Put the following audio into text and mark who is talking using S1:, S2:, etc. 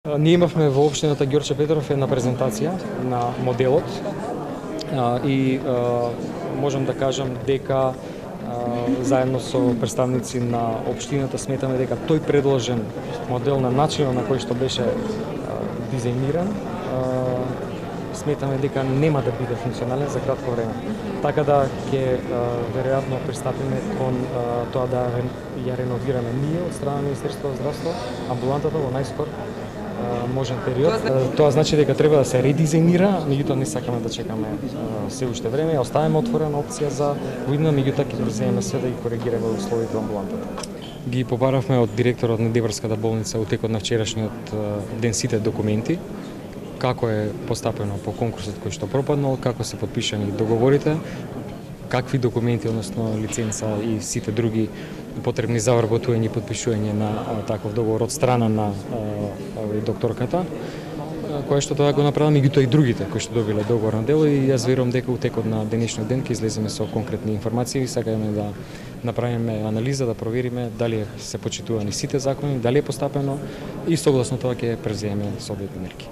S1: Ние имавме во општината Ѓорче Петров една презентација на моделот и можам да кажам дека заедно со представници на општината сметаме дека тој предложен модел на начинот на кој што беше дизајниран сметаме дека нема да биде функционален за кратко време. Така да ќе веројатно пристапиме кон тоа да ја реновираме ние од страна на Министерството за здравство амбулантата во најскор можен период. Тоа значи дека треба да се редизајнира, меѓутоа не сакаме да чекаме се уште време, ја оставаме отворена опција за видно, меѓутоа ќе преземеме се да ги коригираме условите во амбулантата. Ги побаравме од директорот на Дебарската болница утекот на вчерашниот ден сите документи, како е постапено по конкурсот кој што пропаднал, како се подпишани договорите, какви документи, односно лиценца и сите други потребни за вработување и подпишување на таков договор од страна на докторката, која што тоа го направила, меѓутоа и другите кои што добиле договор на дело, и јас верувам дека утекот на денешниот ден ќе излеземе со конкретни информации и сакаме да направиме анализа, да провериме дали се почитувани сите закони, дали е постапено и согласно тоа ќе преземеме соодветни мерки.